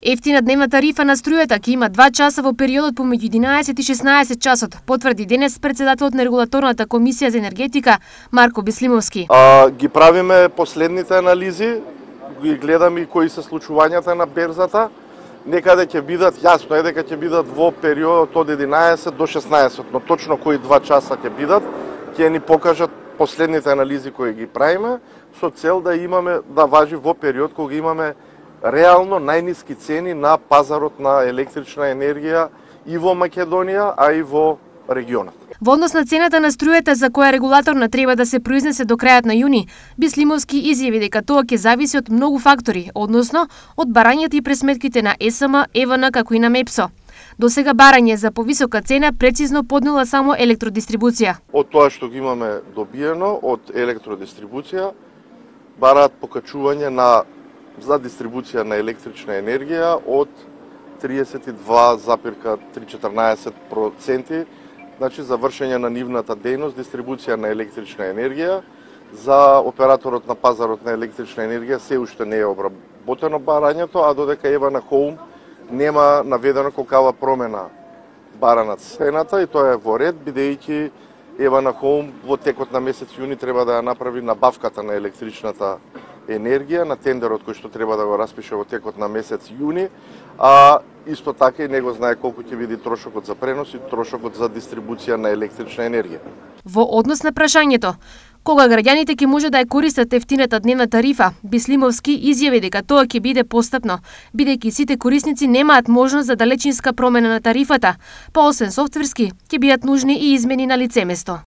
Ефтина дневна тарифа на струјата ќе има 2 часа во периодот помеѓу 11 и 16 часот, потврди денес председателот на регулаторната комисија за енергетика Марко Беслимовски. Ги правиме последните анализи, ги гледаме и кои се случувањата на берзата. Некаде ќе бидат, јасно е дека ќе бидат во периодот од 11 до 16, но точно кои 2 часа ќе бидат, ќе ни покажат последните анализи кои ги правиме, со цел да имаме, да важи во период кога имаме реално најниски цени на пазарот на електрична енергија и во Македонија, а и во регионот. Во однос на цената на струјата за која регулаторна треба да се произнесе до крајот на јуни, Беслимовски изјави дека тоа ќе зависи од многу фактори, односно од барањата и пресметките на ЕСМ, ЕВН како и на МЕПСО. До сега барање за повисока цена прецизно поднела само електродистрибуција. Од тоа што ги имаме добиено од електродистрибуција, бараат покачување за дистрибуција на електрична енергија од 32,314%, значи за вршење на нивната дејност, дистрибуција на електрична енергија. За операторот на пазарот на електрична енергија се уште не е обработено барањето, а додека EVN Home нема наведено колкава промена бара на цената, и тоа е во ред, бидејќи EVN Home во текот на месец јуни треба да ја направи набавката на електричната енергија на тендерот кој што треба да го распише во текот на месец јуни, а исто така и него знае колку ќе биде трошокот за пренос и трошокот за дистрибуција на електрична енергија. Во однос на прашањето кога граѓаните ќе може да ја користат ефтината дневна тарифа, Беслимовски изјави дека тоа ќе биде постапно, бидејќи сите корисници немаат можност за далечинска промена на тарифата, па освен софтверски ќе бидат нужни и измени на лице место.